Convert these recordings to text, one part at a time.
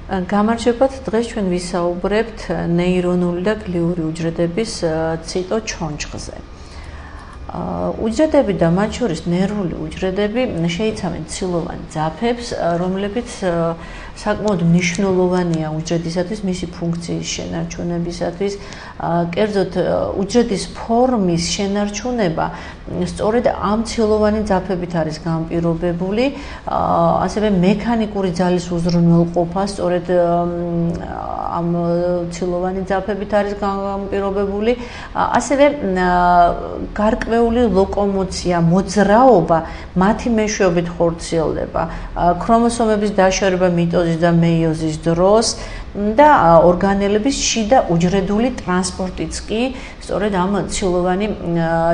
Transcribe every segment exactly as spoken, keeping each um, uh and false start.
გამარჯობათ, დღეს ჩვენ ვისაუბრებთ ნეირონული და გლიური უჯრედების ციტოჩონჩხზე. უჯრედები და მათ შორის ნერვული უჯრედები შეიცავენ ცილოვან ძაფებს, რომლებიც საკმაოდ მნიშვნელოვანია უჯრედისათვის, მისი ფუნქციის შენარჩუნებისათვის. კერძოდ, უჯრედის ფორმის შენარჩუნება სწორედ ამ ცილოვანი ძაფებით არის განპირობებული, ასევე მექანიკური ძალის უზრუნველყოფა სწორედ ამ ცილოვანი ძაფებით არის განპირობებული, ასევე გარკვეული ლოკომოცია, მოძრაობა მათი მეშვეობით ხორციელდება. ქრომოსომების დაშორება მიტოზის და მეიოზის დროს და ორგანელების შიდა უჯრედული ტრანსპორტიც კი სწორედ ამ ცილოვანი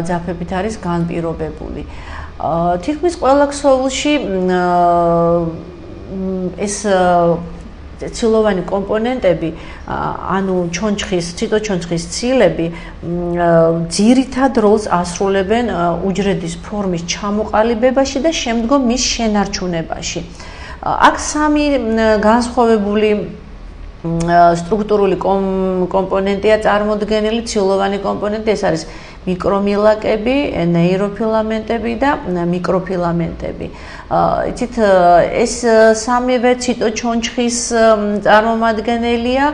ძაფებით არის განპირობებული. თითქმის ყველა ქსოვილში ეს ცილოვანი კომპონენტები, ანუ ჩონჩხის, ციტოჩონჩხის ცილები ძირითად როლს ასრულებენ უჯრედის ფორმის ჩამოყალიბებაში და შემდგომ მის შენარჩუნებაში. აქ სამი განსხვავებული სტრუქტურული კომპონენტია წარმოდგენილი, ცილოვანი კომპონენტი, ეს არის მიკრომილაკები, ნეიროფილამენტები და მიკროფილამენტები. იცით, ეს სამივე ციტოჩონჩხის წარმომადგენელია,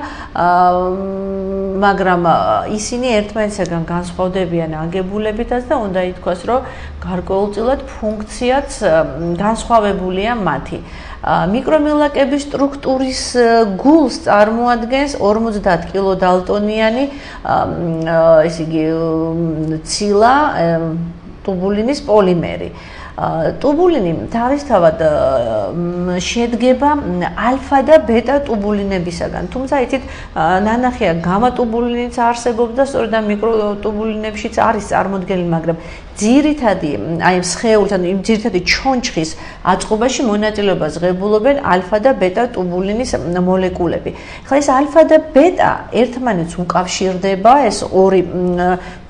მაგრამ ისინი ერთმანეთისგან განსხვავდებიან აგებულებითაც და უნდა ითქვას, რომ გარკვეულწილად ფუნქციაც განსხვავებულია მათი. მიკრომილაკების სტრუქტურის გულს წარმოადგენს ორმოცდაათ კილოდალტონიანი, ესე იგი, ცილა ტუბულინის პოლიმერი. ტუბულინი თავისთავად შედგება ალფა და ბეტა ტუბულინებისაგან. თუმცა იცით, ნანახია გამა ტუბულინიც არსებობს და სწორედ ამ მიკროტუბულინებშიც არის წარმოდგენილი, მაგრამ ძირითადი, აი სხეულის, ანუ იმ ძირითადი ჩონჩხის აწყობაში მონაწილეობას ღებულობენ ალფა და ბეტა ტუბულინის მოლეკულები. ხა ეს ალფა და ბეტა ერთმანეთს უკავშირდება, ეს ორი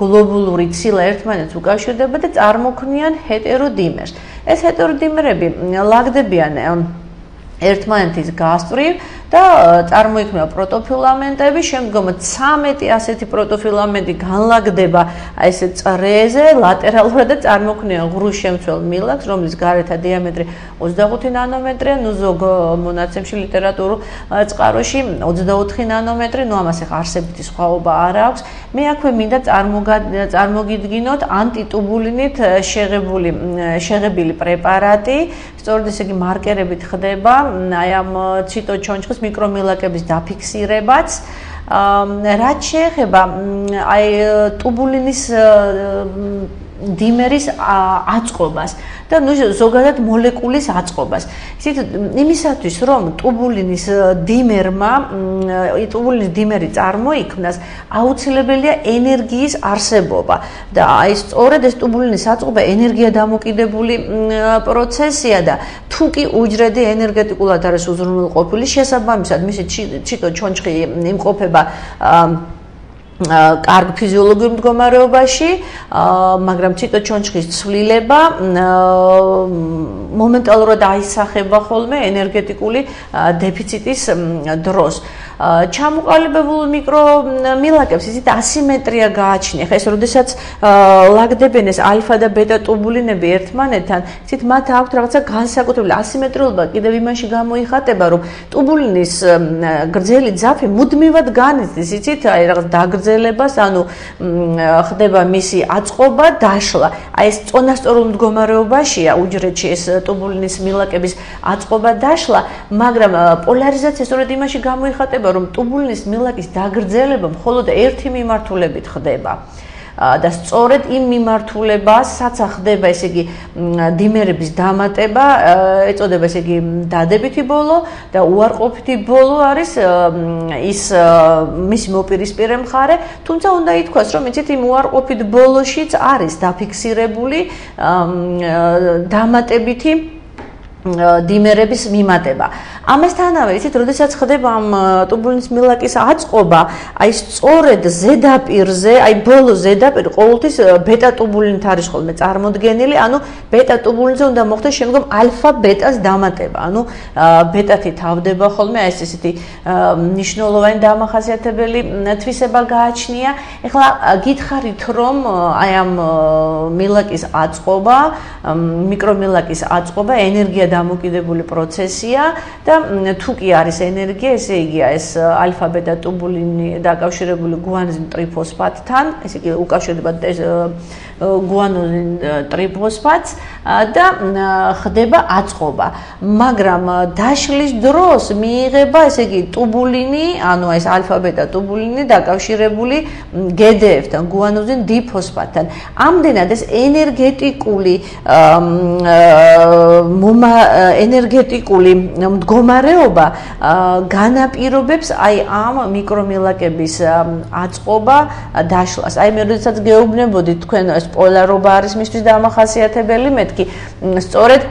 გლობულური ცილა ერთმანეთს უკავშირდება და წარმოქმნიან ჰეტეროდიმერს. ეს ჰეტეროდიმერები ლაგდებიან ერთმანეთის გასწვრივ და წარმოიქმნება პროტოფილამენტები, შემდგომ ცამეტი ასეთი პროტოფილამენტი განლაგდება ესე წრეზე ლატერალურად და წარმოქმნიან ღრუშემცველ მილაკს, რომლის გარეთა დიამეტრი ოცდახუთი ნანომეტრია, ნუ ზოგ მონაცემში ლიტერატურულ წყაროში ოცდაოთხი ნანომეტრი, ნუ ამას ახლა არსებითი სხვაობა არ აქვს. მე აქვე მინდა წარმოგიდგინოთ ანტიტუბულინით შეღებული შეღებილი პრეპარატი, სწორედ ესე იგი მარკერებით ხდება აი ამ ციტოჩონჩხის მიკრომილაკების დაფიქსირებაც. რაც შეეხება აი ტუბულინის დიმერის აწყობას და ნუ ზოგადად მოლეკულის აწყობას. ისეთ იმისათვის, რომ ტუბულინის დიმერმა, ტუბულინის დიმერი წარმოიქმნას, აუცილებელია ენერგიის არსებობა. და აი სწორედ ეს ტუბულინის აწყობა ენერგია დამოკიდებული პროცესია და თუ კი უჯრედი ენერგეტიკულად არის უზრუნველყოფილი, შესაბამისად მისი ციტოჩონჩხი იმყოფება კარგ ფიზიოლოგიურ მდგომარეობაში, მაგრამ ციტოჩონჩხის ცვლილება მომენტალურად აისახება ხოლმე ენერგეტიკული დეფიციტის დროს. ჩამოყალიბებულ მიკრომილაკებს ისეთ ასიმეტრია გააჩნია. ხა ეს როდესაც ლაგდებენ ეს ალფა და ბეტა ტუბულინები ერთმანეთთან, ისეთ მათ აქვთ რაღაცა განსაკუთრებული ასიმეტრიულობა კიდევ იმაში გამოიხატება, რომ ტუბულინის გრძელი ძაფი მუდმივად განიცდის, იცით, აი რაღაც დაგრძელებას, ანუ ხდება მისი აწყობა, დაშლა. აი ეს წონასწორულ მდგომარეობაშია უჯრედში ეს ტუბულინის მილაკების აწყობა, დაშლა, მაგრამ პოლარიზაცია სწორედ იმაში გამოიხატება, რომ ტუბულინის მილაკის დაგრძელება მხოლოდ ერთი მიმართულებით ხდება. და სწორედ იმ მიმართულებასაც ხდება, ესე იგი, დიმერების დამატება, ეწოდება ესე იგი დადებითი ბოლო და უარყოფითი ბოლო არის ის მისი მოპირისპირე მხარე, თუმცა უნდა ითქვას, რომ იცით, იმ უარყოფით ბოლოშიც არის დაფიქსირებული დამატებითი დიმერების მიმატება. ამასთანავე, იცით, როდესაც ხდება ამ ტუბულინის მილაკის აწყობა, აი სწორედ ზედაპირზე, აი ბოლო ზედაპირი ყოველთვის ბეტა ტუბულინით არის ხოლმე წარმოდგენილი, ანუ ბეტა ტუბულინზე უნდა მოხდეს შემდგომ ალფა ბეტას დამატება. ანუ ბეტათი თავდება ხოლმე, აი ეს ისეთი მნიშვნელოვანი დამახასიათებელი თვისება გააჩნია. ეხლა გითხარით, რომ აი ამ მილაკის აწყობა, მიკრომილაკის აწყობა ენერგია დამოკიდებული პროცესია და თუ კი არის ენერგია, ესე იგი ეს ალფა ბეტა ტუბულინი დაკავშირებული გუანოზინ ტრიფოსფატთან, ესე იგი უკავშირდება გუანოზინ ტრიფოსფატს და ხდება აწყობა. მაგრამ დაშლის დროს მიიღება, ესე იგი ტუბულინი, ანუ ეს ალფა ბეტა ტუბულინი დაკავშირებული გედეებთან, გუანოზინ დიფოსფატთან. ამდენად ეს ენერგეტიკული ენერგეტიკული მდგომარეობა განაპირობებს აი ამ მიკრომილაკების აწყობა დაშლას. აი მე როდესაც გეუბნებოდით თქვენ ეს პოლარობა არის მისთვის დამახასიათებელი, მეთქი სწორედ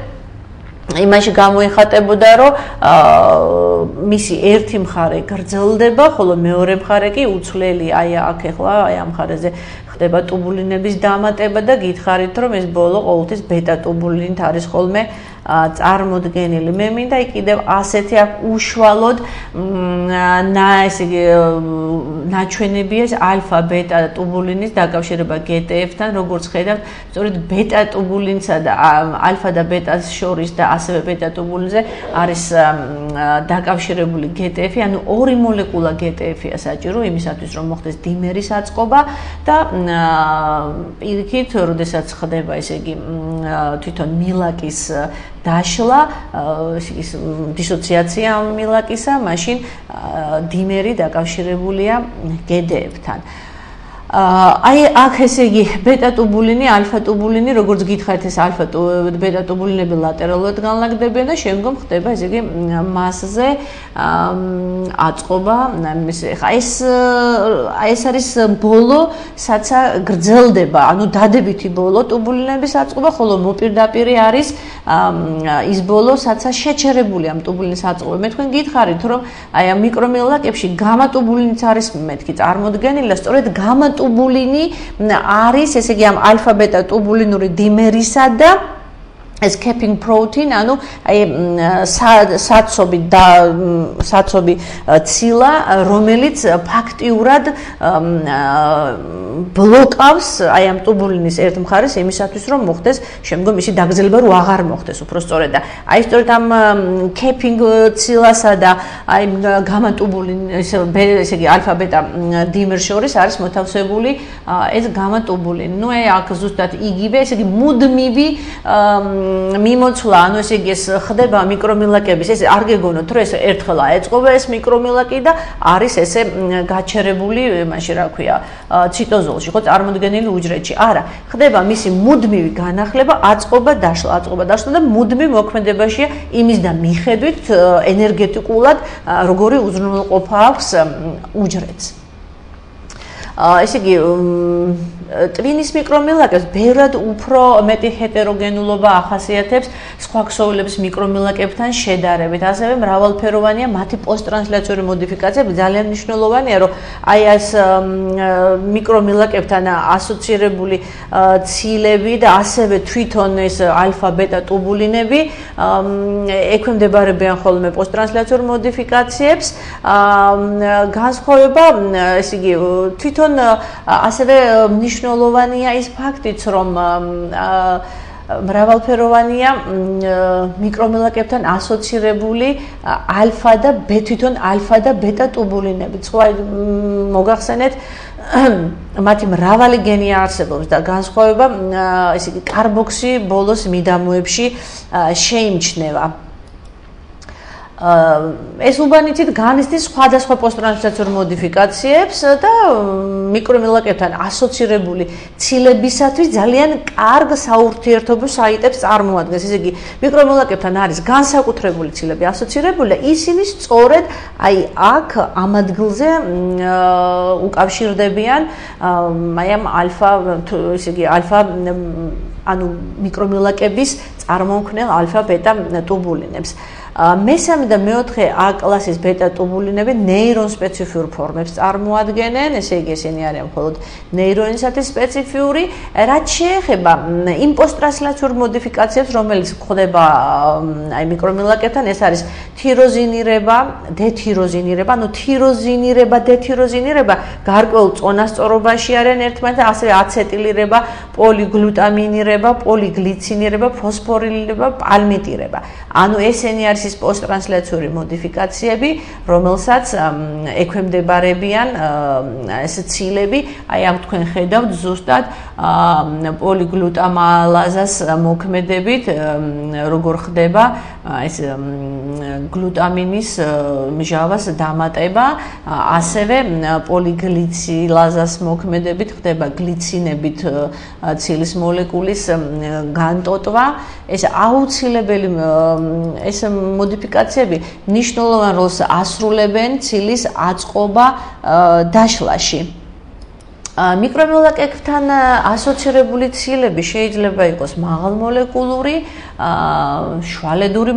იმაში გამოიხატებოდა, რომ მისი ერთი მხარე გრძელდება, ხოლო მეორე მხარე კი უცვლელი. აი აქ ახლა აი ამ მხარეზე ხდება ტუბულინების დამატება და გითხარით, რომ ეს ბოლო ყოველთვის ბეტა ტუბულინით არის ხოლმე წარმოდგენილი. მე მინდა კიდევ ასეთი აქ უშუალოდ ნა ესე იგი ნაჩვენებია ეს ალფა ბეტა ტუბულინის დაკავშირება გეტეებთან, როგორც ხედავთ, სწორედ ბეტა ტუბულინსა და ალფა და ბეტას შორის და ასევე ბეტა ტუბულინზე არის დაკავშირებული გეტეები, ანუ ორი მოლეკულა გეტეებია საჭირო იმისათვის, რომ მოხდეს დიმერის აწყობა და პირიქით, როდესაც ხდება ესე იგი თვითონ მილაკის დაშლა, ის დისოციაცია მილაკისა, მაშინ დიმერი დაკავშირებულია გედეებთან. აი აქ ესე იგი ბეტა ტუბულინი, ალფა ტუბულინი, როგორც გითხარით, ეს ალფა ბეტა ტუბულინები ლატერალურად განლაგდებიან და შემდგომ ხდება ესე იგი მასზე აწყობა. ხა ეს აი ეს არის ბოლო, საცა გრძელდება, ანუ დადებითი ბოლო ტუბულინების აწყობა, ხოლო მოპირდაპირი არის ის ბოლო, საცა შეჩერებული ამ ტუბულინის აწყობა. მე თქვენ გითხარით, რომ აი ამ მიკრომილაკებში გამა ტუბულინიც არის მეთქი წარმოდგენილი და სწორედ გამა ტუბულინი არის, ესე იგი ამ ალფა ბეტა ტუბულინური დიმერისა და ეს capping protein, ანუ აი საცობი და საცობი ცილა, რომელიც ფაქტიურად ბლოკავს აი ამ ტუბულინის ერთ მხარეს იმისათვის, რომ მოხდეს შემდგომ ისი დაგრძელება, რომ აღარ მოხდეს უფრო სწორედ და აი სწორედ ამ capping ცილასა და აი გამა ტუბულინის ესე იგი ალფა ბეტა დიმერ შორის არის მოთავსებული ეს გამა ტუბულინი. ნუ აი აქ ზუსტად იგივე, ესე იგი მუდმივი მიმოცვლა, ანუ ესე იგი ეს ხდება მიკრომილაკების, ეს არ გეგონოთ, რომ ეს ერთხელ აეწყობა ეს მიკრომილაკი და არის ესე გაჩერებული, მაშინ რა ქვია, ციტოზოლში, ხო, წარმოდგენილი უჯრედში. არა, ხდება მისი მუდმივი განახლება, აწყობა, დაშლა, აწყობა, დაშლა და მუდმივ მოქმედებაშია იმის და მიხედვით ენერგეტიკულად როგორი უზრუნველყოფა აქვს უჯრედს. ესე იგი ტვინის მიკრომილაკებს ბევრად უფრო მეტი ჰეტეროგენულობა ახასიათებს სხვა ქსოვილების მიკრომილაკებთან შედარებით. ასევე მრავალფეროვანია მათი პოსტტრანსლაციური მოდიფიკაციები. ძალიან მნიშვნელოვანია, რომ აი ეს მიკრომილაკებთან ასოცირებული ცილები და ასევე თვითონ ეს ალფა ბეტა ტუბულინები ექვემდებარებიან ხოლმე პოსტტრანსლაციურ მოდიფიკაციებს. განსხვავება, ესე იგი, თვითონ ასევე მნიშვნელოვანია ის ფაქტიც, რომ მრავალფეროვანია მიკრომილაკებთან ასოცირებული ალფა და თვითონ ალფა და ბეტა ტუბულინები. სხვა მოგახსენეთ, მათი მრავალი გენი არსებობს და განსხვავება, ესე იგი, კარბოქსი ბოლოს მიდამოებში შეიმჩნევა. ეს უბანითით განიცდის სხვადასხვა პოსტტრანსლაციურ მოდიფიკაციებს და მიკრომილაკებთან ასოცირებული ცილებისათვის ძალიან კარგ საურთიერთობო საიტებს წარმოადგენს. ესე იგი, მიკრომილაკებთან არის განსაკუთრებული ცილები ასოცირებული და ისინი სწორედ აი აქ ამ ადგილზე უკავშირდებიან აი ამ ალფა, ესე იგი, ალფა ანუ მიკრომილაკების წარმომქმნელ ალფა ბეტა ტუბულინებს. მესამე და მეოთხე A კლასის ბეტა ტუბულინები ნეირონ სპეციფიურ ფორმებს წარმოადგენენ, ესე იგი ესენი არიან მხოლოდ ნეირონისათვის სპეციფიური, რაც შეეხება იმ პოსტტრანსლაციურ მოდიფიკაციებს, რომელიც ხდება აი მიკრომილაკებთან, ეს არის თიროზინირება, დეთიროზინირება, ანუ თიროზინირება, დეთიროზინირება გარკვეულ წონასწორობაში არიან ერთმანეთთან, ასევე აცეტილირება, პოლიგლუტამინირება, პოლიგლიცინირება, ფოსფორილირება, პალმიტირება. ანუ ესენი არის ის პოსტტრანსლაციური მოდიფიკაციები, რომელსაც ექვემდებარებიან ეს ცილები, აი აქ თქვენ ხედავთ ზუსტად პოლიგლუტამალაზას მოქმედებით, როგორ ხდება ეს გლუტამინის მჟავას დამატება, ასევე პოლიგლიცილაზას მოქმედებით ხდება გლიცინებით ცილის მოლეკულის განტოტვა. ეს აუცილებელი ეს მოდიფიკაციები მნიშვნელოვან როლს ასრულებენ ცილის აწყობა დაშლაში. მიკრომოლეკულებთან ასოცირებული ცილები შეიძლება იყოს მაღალმოლეკულური, შვალედური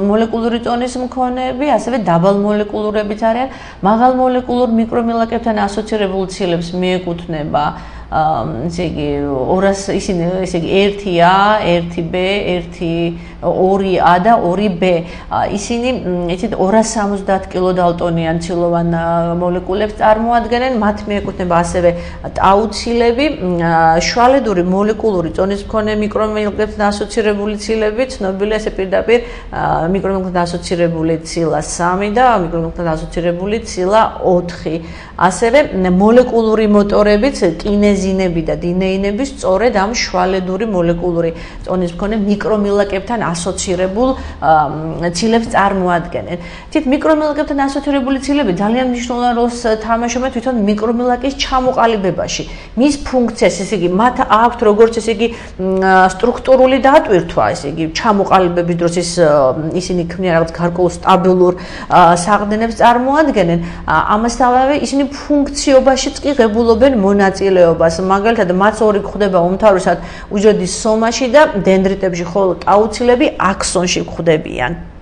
მოლეკულური ტონის მქონეები, ასევე დაბალმოლეკულურებიც არიან. მაღალმოლეკულურ მიკრომოლეკულებთან ასოცირებულ ცილებს მიეკუთვნება ესე იგი ორას ისინი ესე იგი ერთი A, ერთი B, ერთი ორი A და ორი B. ისინი იცით ორას სამოცდაათ კილოდალტონიან ცილოვან მოლეკულებს წარმოადგენენ, მათ მიეკუთვნება ასევე ტაუცილები, შვალედური მოლეკულური ტონის მქონე მიკრომოლეკულებთან ასოცირებული ცილები, ცნობილია ესე პირდაპირ მიკრომოლეკულებთან ასოცირებული ცილა სამი და მიკრომოლეკულებთან ასოცირებული ცილა ოთხი. ასევე მოლეკულური მოტორებიც კინეზინები და დინეინები სწორედ ამ შვალედური მოლეკულური ტონის მქონე მიკრომოლეკულებთან ასოცირებულ ცილებს წარმოადგენენ. თით მიკრომოლეკულებთან ასოცირებული ცილები ძალიან მნიშვნელოვან როლს თამაშობენ თვითონ მიკრომოლეკულის ჩამოყალიბებაში. მის ფუნქციას, ესე იგი, მათ აქვთ როგორც ესე იგი სტრუქტურული დატვირთვა, ესე იგი, ჩამოყალიბების დროს ის ისინი ქმნიან რაღაც გარკვეულ სტაბილურ საყრდენებს წარმოადგენენ. ამასთანავე ისინი ფუნქციობაშიც კი ღებულობენ მონაწილეობას. მაგალითად, მათ ორი გვხვდება უმთავრესად უჯრედის სომაში და დენდრიტებში, ხოლო ტაუცილები აქსონში გვხვდებიან.